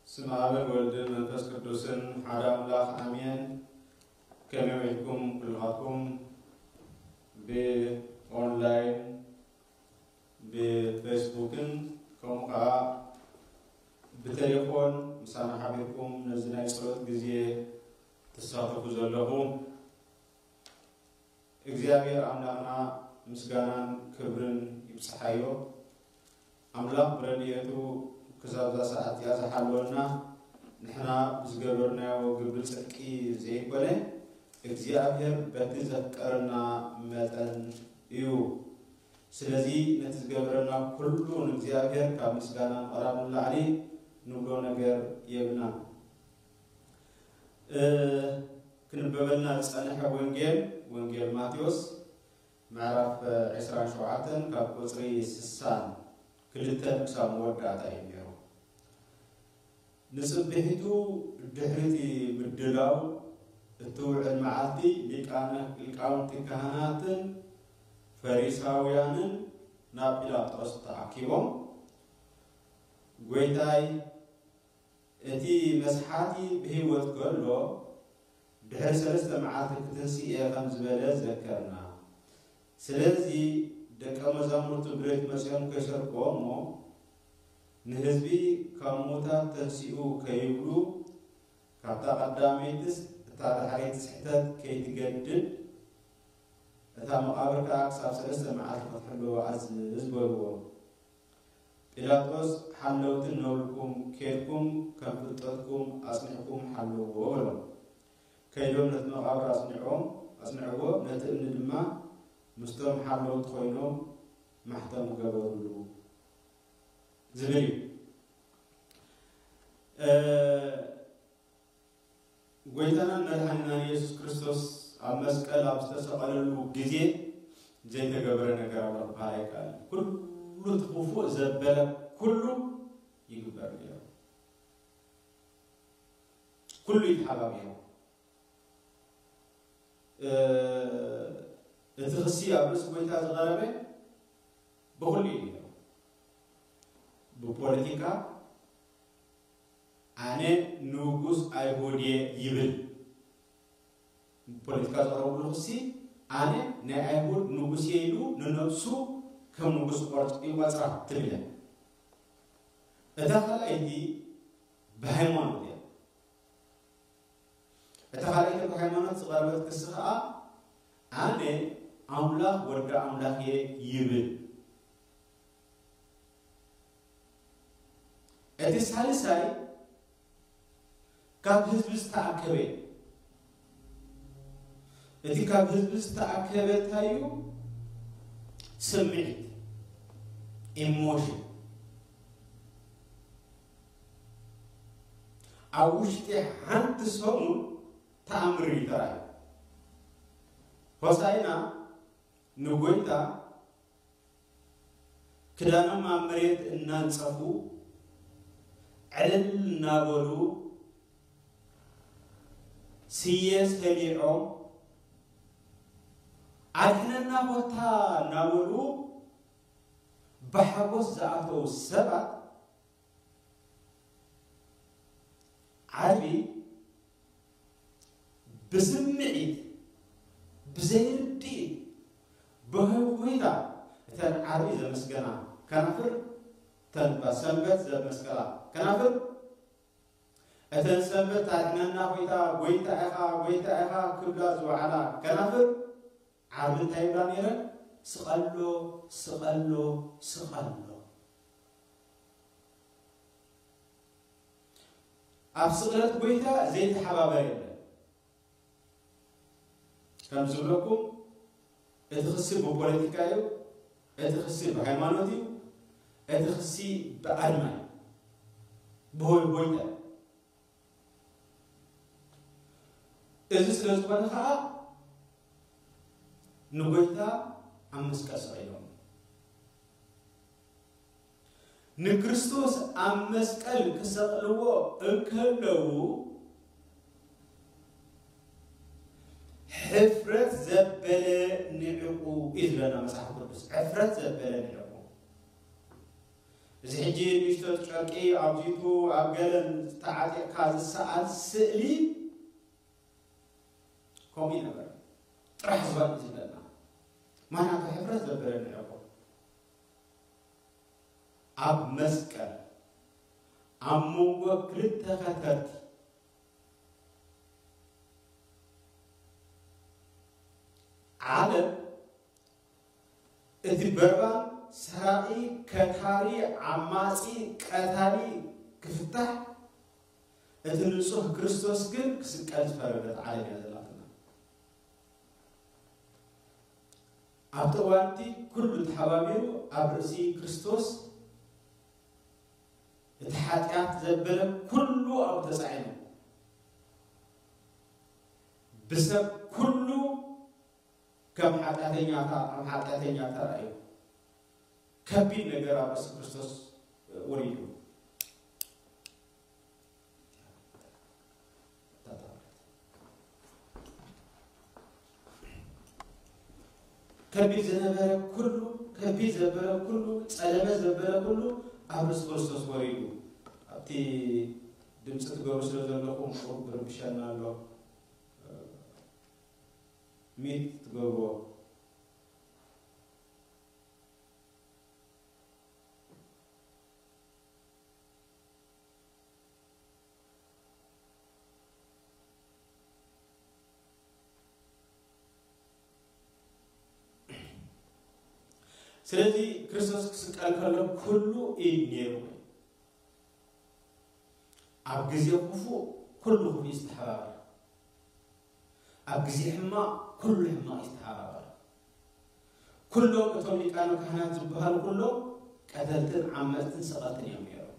ስም ኣብን ወልድን መንፈስ ቅዱስን ሓደ ኣምላኽ ኣሜን። ከመይ ውዒልኩም ኩልኻትኩም? ብኦንላይን፣ ብፌስቡክን ከምኡ ከዓ ብቴሌፎን ምሳና ሓቢርኩም ነዚ ናይ ጸሎት ግዜ ትሳተፉ ዘለኹም፣ እግዚኣብሔር ኣምላኽና ምስጋናን ክብርን ይብጽሓዮ። ኣምላኽ ብረድኤቱ ክሳብ እዛ ሰዓት እዚኣ ዝሓለወና፣ ንሕና ብዝገበርናዮ ግብሪ ጽድቂ ዘይኮነ፣ እግዚኣብሔር በቲ ዘፍቀረና መጠን እዩ። ስለዚ ነቲ ዝገበረና ኩሉ ንእግዚኣብሔር ካብ ምስጋና ምቕራብ ንላዕሊ ንብሎ ነገር የብልናን። እ፣ ክንበበልና ዝጸንሐ ወንጌል፣ ወንጌል ማቴዎስ ምዕራፍ ዕስራን ሸውዓተን ካብ ቁጽሪ ስሳን ክልተን ክሳብ መወዳእታ እዩ ነይሩ። ንጽብሒቱ ድሕሪ እቲ ምድላው እትውዕል መዓልቲ ሊቃነ፣ ሊቃውንቲ ካህናትን ፈሪሳውያንን ናብ ጲላጦስ ተኣኪቦም፣ "ጐይታይ፣ እቲ መስሓቲ ብህይወት ከሎ ድሕሪ ሰለስተ መዓልቲ ክትንስእ እየ" ከም ዝበለ ዘከርና። ስለዚ ደቀ መዛሙርቱ ብለይቲ መጺኦም ከይሰርቅዎ እሞ፣ ንህዝቢ ካብ ምዉታት ተንሲኡ ከይብሉ፣ ካብታ ቀዳመይትስ እታ ዳሕረይቲ ስሕተት ከይትገድድ፣ እታ መቓብር ከኣ ክሳብ ሰለስተ መዓልቲ ክትሕልዎ ኣዝዝ በልዎ። ጲላጦስ፣ ሓለውቲ እነብልኩም፣ ኬድኩም ከም ፍልጠትኩም ኣጽኒዕኩም ሓልውዎ በሎም። ከይዶም ነቲ መቓብር ኣጽኒዖም፣ ኣጽንዕዎ፣ ነቲ እምኒ ድማ ምስቶም ሓለውቲ ኮይኖም ማሕተም ገበሩሉ ዝብል እዩ። እ፣ ጐይታናን መድሓኒናን ኢየሱስ ክርስቶስ ኣብ መስቀል ኣብ ዝተሰቐለሉ ግዜ ዘይተገበረ ነገር ኣሎ ክበሃል ኣይከኣልን። ኩሉ እቲ ክፉእ ዘበለ ኩሉ ይግበር ነይሩ። ኩሉ ይተሓባብ ነይሩ። እ፣ እቲ ክሲ ኣብ ርእሲ ጐይታ ዝቐረበ ብኹሉ እዩ ነይሩ። ብፖለቲካ፣ "ኣነ ንጉስ ኣይሁድ እየ" ይብል። ብፖለቲካ ዘቕረብሉ ክሲ፣ "ኣነ ናይ ኣይሁድ ንጉስ እየ" ኢሉ ንነብሱ ከም ንጉስ ቆርጽ-፣ ይቖጽራ ትብል እያ። እታ ካልኣይቲ ብሃይማኖት እያ። እታ ካልኣይቲ ብሃይማኖት ዝቐረበት ክሲ ኸኣ፣ "ኣነ ኣምላኽ ወዲ ኣምላኽ እየ" ይብል። እቲ ሳልሳይ ካብ ህዝቢ ዝተኣከበ እዩ። እቲ ካብ ህዝቢ ዝተኣከበ እንታይ እዩ? ስምዒት፣ ኢሞሽን። ኣብ ውሽጢ ሓንቲ ሰሙን ተኣምር እዩ ተራእዩ። ሆሳዕና ንጎይታ ክዳኖም ኣብ መሬት እናንጸፉ፣ ዕልል እናበሉ፣ ስየ ሰሊዖም፣ "ኣድሕነና ኮታ" እናበሉ ብሓጎስ ዝኣተዉ ሰባት፣ ዓርቢ ብስምዒት፣ ብዘይርድኢት፣ ብህውይታ እተን ዓርቢ ዘመስገና ከናፍር፣ እተን ሰንበት ዘመስገና ከናፍር፣ እተን ሰንበት ታድሕነና ጐይታ፣ ጐይታ ኢኻ፣ ጐይታ ኢኻ ክብላ ዝወዓላ ከናፍር፣ ዓርቢ እንታይ ይብላ ነይረን? "ስቐሎ፣ ስቐሎ፣ ስቐሎ።" ኣብ ስቕለት ጐይታ ዘይተሓባበር የለን። ከም ዝብለኩም፣ እቲ ክሲ ብፖለቲካ እዩ፣ እቲ ክሲ ብሃይማኖት እዩ፣ እቲ ክሲ ብኣድማ እዩ፣ ብሆይ ሆይታ እዩ። እዚ ስለ ዝኾነ ኸዓ ንጎይታ ኣብ መስቀል ሰቒሎም። ንክርስቶስ ኣብ መስቀል ክሰቕልዎ እንከለዉ፣ ሕፍረት ዘበለ ንዕቑ እዩ ዝብለና መጽሓፍ ቅዱስ። ሕፍረት ዘበለ ንዕቑ። እዚ ሕጂ ንእሽቶ ጨርቂ ኣብዚቱ ኣብ ገለን ዝተዓጢቕካ ዝሰኣል ስእሊ ከምኡ ይነበረ። ጥራሕ ዝበል ዝብለና ማናቱ ሕፍረት ዘበለ ንዕቆ ኣብ መስቀል ኣብ መንጎ ክልተ ከተርቲ ዓለም እቲ በርባን ሰራቒ፣ ከታሪ፣ ዓማጺ፣ ቀታሊ ክፍታሕ፣ እቲ ንጹህ ክርስቶስ ግን ክስቀል ዝፈረደት ዓለም እያ ዘላትና። ኣብቲ እዋንቲ ኩሉ ተሓባቢሩ ኣብ ርእሲ ክርስቶስ እቲ ሓጢኣት ዘበለ ኩሉ ኣብ ተጻዒኑ ብሰብ ኩሉ ከም ሓጢኣተኛታ ከም ሓጢኣተኛ ተራእዩ ከቢድ ነገር ኣብ ርእሲ ክርስቶስ ወሪዱ። ከቢድ ዝነበረ ኩሉ ከቢድ ዘበለ ኩሉ ጸለመ ዘበለ ኩሉ ኣብ ርእሲ ክርስቶስ ወሪዱ። ኣብቲ ድምፂ ትገብሩ ስለ ዘለኹም ቁሩብ ብርብሸና ኣሎ። ሚት ትገብርዎ። ስለዚ ክርስቶስ ክስቀል ከሎ ኩሉ ኢድ ነይሩ። ኣብ ግዜ ክፉእ ኩሉ ክፉእ ዝተሓባበር፣ ኣብ ግዜ ሕማቕ ኩሉ ሕማቕ ዝተሓባበር። ኩሎም እቶም ሊቃነ ካህናት ዝበሃሉ ኩሎም ቀተልትን ዓመፅትን ሰቐልትን እዮም ነይሮም።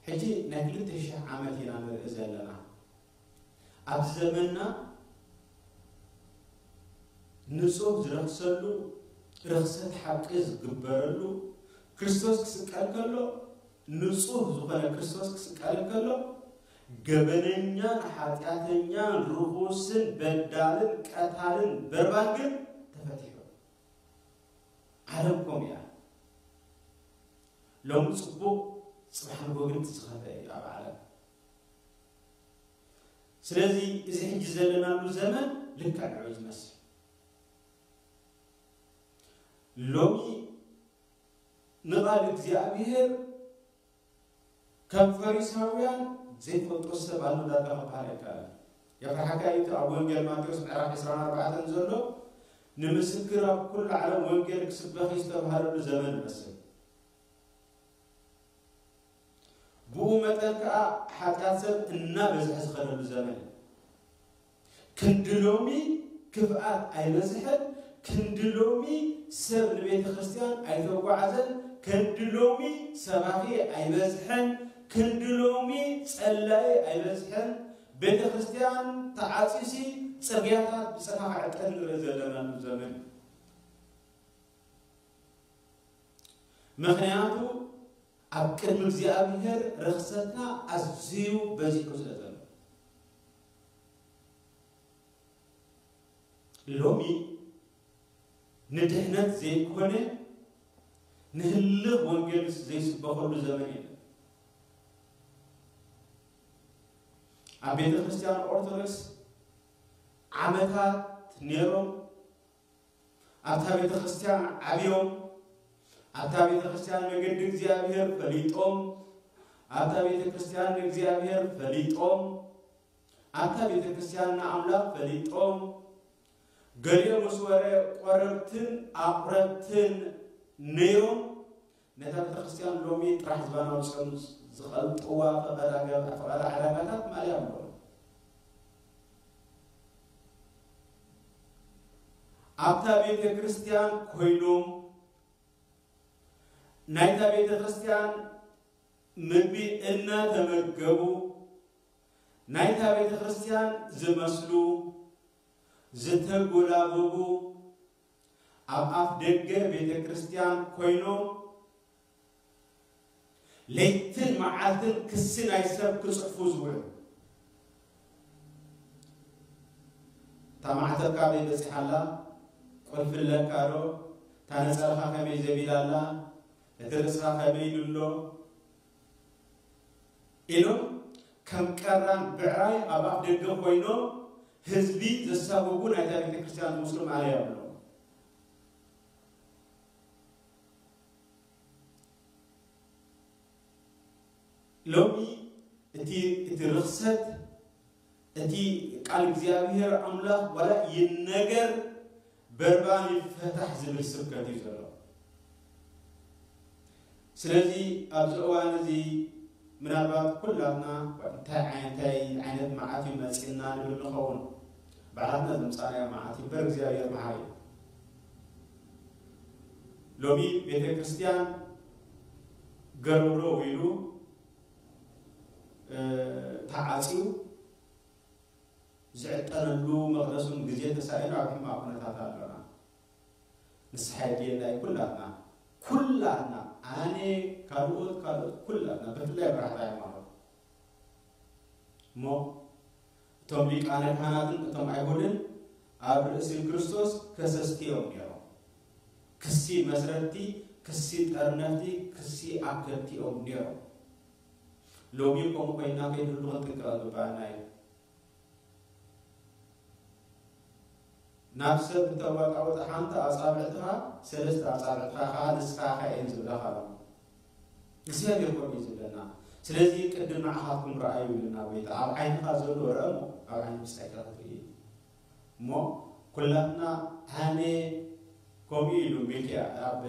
ሕጂ ናይ ክልተ ሽሕ ዓመት ኢና ንርኢ ዘለና። ኣብዚ ዘመንና ንጹህ ዝረኽሰሉ፣ ርኽሰት ሓቂ ዝግበረሉ፣ ክርስቶስ ክስቀል ከሎ፣ ንጹህ ዝኾነ ክርስቶስ ክስቀል ከሎ፣ ገበነኛን ሓጢኣተኛን ርኹስን በዳልን ቀታልን በርባን ግን ተፈቲሑ። ዓለም ከምኡ እያ። ሎሚ ጽቡቕ፣ ጽባሕ ንጎ ግን እቲ ዝኸፍአ እዩ ኣብ ዓለም። ስለዚ እዚ ሕጂ ዘለናሉ ዘመን ልክዕ ንዑ ዝመስል። ሎሚ ንቓል እግዚኣብሔር ከም ፈሪሳውያን ዘይፈልጦ ሰብ ኣሎ ዳርጋ ክበሃል ኣይከኣልን። የፍርሓካ እዩ እቲ ኣብ ወንጌል ማቴዎስ ምዕራፍ ዕስራን ኣርባዕተን ዘሎ ንምስክር ኣብ ኩሉ ዓለም ወንጌል ክስበኽ እዩ ዝተባህለሉ ዘመን ይመስል። ብኡ መጠን ከኣ ሓጢኣት ሰብ እናበዝሐ ዝኸደሉ ዘመን እዩ። ክንዲ ሎሚ ክፍኣት ኣይበዝሐን፣ ክንዲ ሎሚ ሰብ ንቤተ ክርስቲያን ኣይተጓዓዘን፣ ክንዲ ሎሚ ሰባኺ ኣይበዝሐን፣ ክንዲ ሎሚ ጸላኢ ኣይበዝሐን። ቤተ ክርስቲያን ተዓጺሲ ጽርግያታት ብጸፋ ክዕጠን ንርኢ ዘለናሉ ዘመን እዩ። ምኽንያቱ ኣብ ቅድሚ እግዚኣብሔር ርኽሰትና ኣዝዩ በዚሑ ስለ ዘሎ። ሎሚ ንድሕነት ዘይኮነ ንህልኽ ወንጌል ዘይስበኸሉ ዘመን የለን። ኣብ ቤተ ክርስቲያን ኦርቶዶክስ ዓመታት ነይሮም ኣብታ ቤተ ክርስቲያን ዓብዮም፣ ኣብታ ቤተ ክርስቲያን መገዲ እግዚኣብሔር ፈሊጦም፣ ኣብታ ቤተ ክርስቲያን ንእግዚኣብሔር ፈሊጦም፣ ኣብታ ቤተ ክርስቲያን ንኣምላኽ ፈሊጦም፣ ገሊኦም ምስ ወረ ቆረብትን ኣቑረብትን ነይሮም። ነታ ቤተ ክርስቲያን ሎሚ ጥራሕ ዝባን ኣውጺኦም ዝቐልጥዋ ፈቐዳ ገብ-፣ ፈቐዳ ዕዳጋታት ማልያ ኣለዎም። ኣብታ ቤተ ክርስቲያን ኮይኖም ናይታ ቤተ ክርስቲያን ምግቢ እናተመገቡ ናይታ ቤተ ክርስቲያን ዝመስሉ ዝተጎላበቡ ኣብ ኣፍ ደገ ቤተ ክርስቲያን ኮይኖም ለይትን መዓልትን ክሲ ናይ ሰብ ክጽሕፉ ዝውዕሉ። እታ ማዕተብ ካበይ በጺሓ ኣላ? ቁልፊ ኣለካ ዶ? እታ ነጸላኻ ከመይ ዘቢላ ኣላ? እቲ ርእስኻ ከመይ ኢሉ ኣሎ ኢሎም ከም ቀራን ብዕራይ ኣብ ኣፍ ደገ ኮይኖም ህዝቢ ዘሳጎጉ ናይታ ቤተ ክርስቲያን ዝመስሉ ማለያ ኣለዉ። ሎሚ እቲ እቲ ርኽሰት እቲ ቃል እግዚኣብሔር ኣምላኽ ዋላ ይነገር በርባን ይፈታሕ ዝብል ስብከት እዩ ዘሎ። ስለዚ ኣብዚ እዋን እዚ ምናልባት ኩላትና እንታይ ዓይነት መዓት እዩ መፂና ንብል ንኸውን። ባዕላትና ዘምፃናዮ መዓት እምበር እግዚኣብሔር መሓሪ እዩ። ሎሚ ቤተ ክርስቲያን ገረውረው ኢሉ ተዓፅዩ ዝዕጠነሉ መቕደሱን ግዜ ተሳኢኑ ኣብ ሕማቕ ኩነታት ኣለና። ንስሓ የድልየና እዩ። ኩላትና ኩላትና ኣነ ካልኦት ካልኦት ኩላትና ብፍላይ መራሕቲ ሃይማኖት እሞ እቶም ሊቃነ ካህናትን እቶም ኣይሁድን ኣብ ርእሲ ክርስቶስ ከሰስቲ እዮም ነይሮም። ክሲ መስረቲ፣ ክሲ ጠርነፍቲ፣ ክሲ ኣከብቲ እዮም ነይሮም። ሎሚ ከምኡ ኮይና ከይንህሉ ክንጥንቀቕ ዝግባኣና እዩ። ናብ ሰብ እንተዋጣወጠ ሓንቲ ኣጻብዕትኻ ሰለስተ ኣጻብዕትኻ ከዓ ንስኻ ኢኻ እየን ዝብላኻ ኣሎ። እግዚኣብሔር ከምኡ እዩ ዝብለና። ስለዚ ቅድም ንዓኻትኩም ረኣዩ ይብለና ጎይታ። ኣብ ዓይንኻ ዘሎ ረአ እሞ ኣብ ዓይኒ ብጻይካ ክትርኢ እሞ ኩላትና ኣነ ከምኡ ኢሉ ሚልኪያ ኣብ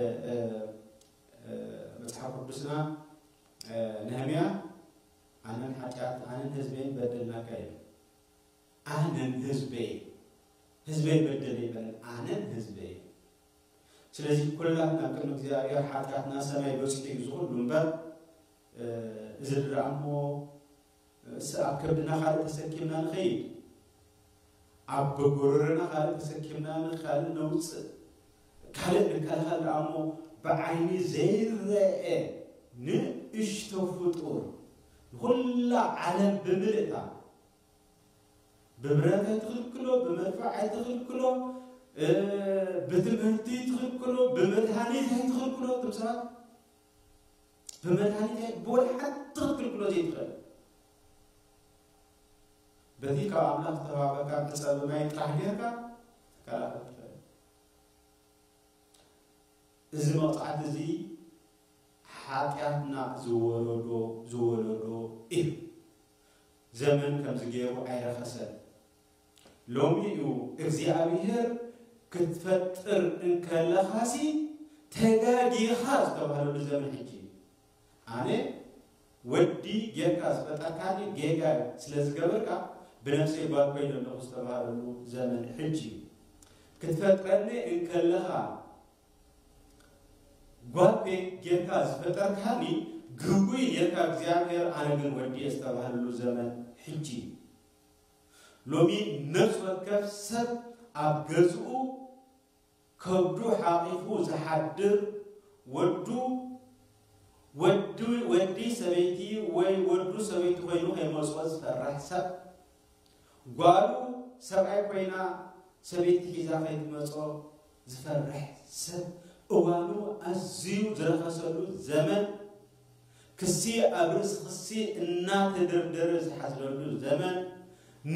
መፅሓፍ ቅዱስና ነህምያ ኣነን ሓጢኣት ኣነን ህዝበይን በደልናካ እዩ። ኣነን ህዝበይ ህዝበይ በደለ ይበለን ኣነን ህዝበይ። ስለዚ ኩላትና ቅድሚ እግዚኣብሔር ሓጢኣትና ሰማይ በፂሑ እዩ ዝኹሉ እምበር እዚ ድረኣሞ እስ ኣብ ከብድና ካልእ ተሰኪምና ንኸይድ ኣብ ጎጎረረና ካልእ ተሰኪምና ንካልእ ነውፅእ ካልእ ንከላኸል ደኣሞ ብዓይኒ ዘይረአ ንእሽቶ ፍጡር ንኩላ ዓለም ብምልእታ ብብረት ኣይትኽልክሎ፣ ብመድፍዕ ኣይትኽልክሎ፣ ብትምህርቲ ኣይትኽልክሎ፣ ብመድሃኒት ኣይትኽልክሎ። እቶም ሰባት ብመድሃኒት ኣይ ብወላ ሓንቲ ክትክልክሎ ዘይትኽእል በቲ ካብ ኣምላኽ ዝተዋሃበካ ዕፀ ብማይ ጥራሕ ጌርካ ትከላኸል ትኽእል። እዚ መቕፃዕቲ እዚ ሓጢኣትና ዝወለዶ ዝወለዶ እዩ። ዘመን ከምዚ ገይሩ ኣይረኸሰን። ሎሚ እዩ እግዚኣብሔር ክትፈጥር እንከለኻሲ ተጋጊኻ ዝተባህለሉ ዘመን ሕጂ እዩ። ኣነ ወዲ ጌርካ ዝፈጠርካኒ ጌጋ ስለ ዝገበርካ ብነፍሰይ ጓል ኮይነ ኣለኹ ዝተባህለሉ ዘመን ሕጂ እዩ። ክትፈጥረኒ እንከለኻ ጓል ጌርካ ዝፈጠርካኒ ግጉይ ጌርካ እግዚኣብሔር ኣነ ግን ወዲ እየ ዝተባህለሉ ዘመን ሕጂ እዩ። ሎሚ ነፍሲ ወከፍ ሰብ ኣብ ገዝኡ ከብዱ ሓቒፉ ዝሓድር ወዱ ወዲ ወዲ ሰበይቲ ወይ ወዱ ሰበይቲ ኮይኑ ከይመፅኦ ዝፈርሕ ሰብ ጓሉ ሰብኣይ ኮይና ሰበይቲ ሒዛ ከይትመፅኦ ዝፈርሕ ሰብ እዋኑ ኣዝዩ ዝረኸሰሉ ዘመን ክሲ ኣብ ርእሲ ክሲ እናተደርደረ ዝሓዝለሉ ዘመን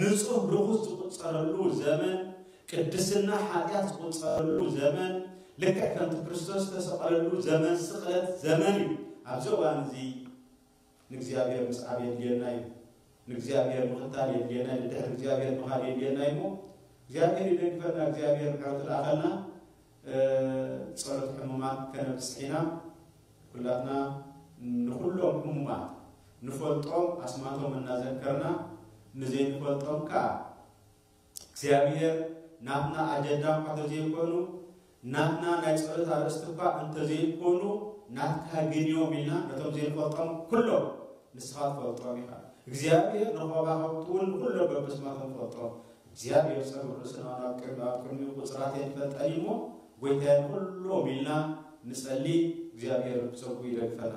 ንጹህ ርኹስ ዝቁጸረሉ ዘመን ቅድስና ሓጢኣት ዝቁጸረሉ ዘመን ልክዕ ከምቲ ክርስቶስ ዝተሰቐለሉ ዘመን ስቕለት ዘመን እዩ። ኣብዚ እዋን እዚ ንእግዚኣብሔር ምስዓብ የድልየና እዩ። ንእግዚኣብሔር ምኽታል የድልየና እዩ። ንድሕሪ እግዚኣብሔር ምኻድ የድልየና እዩ እሞ እግዚኣብሔር ይደግፈና። እግዚኣብሔር ምሕረቱ ልኣኸልና። ጸሎት ሕሙማት ከነብጽሕ ኢና። ኩላትና ንኹሎም ሕሙማት ንፈልጦም ኣስማቶም እናዘከርና ንዘይንፈልጦም ከዓ እግዚኣብሔር ናትና ኣጀንዳ እኳ ተዘይኮኑ ናትና ናይ ጸሎት ኣርእስቲ እኳ እንተዘይኮኑ ናትካ ግን እዮም ኢልና ነቶም ዘይንፈልጦም ኩሎም ንስኻ ትፈልጦም ኢኻ። እግዚኣብሔር ንኸባኸብቲ እውን ንኹሎም በብስማቶም ፈልጦም። እግዚኣብሔር ጸጉር ርእስና ናብ ቅድሚ ኣብ ቅድሚኡ ቁጽራት የንፈልጠን እሞ ጎይታ ንኹሎም ኢልና ንጸሊ። እግዚኣብሔር ብሰጉ ይደግፈና።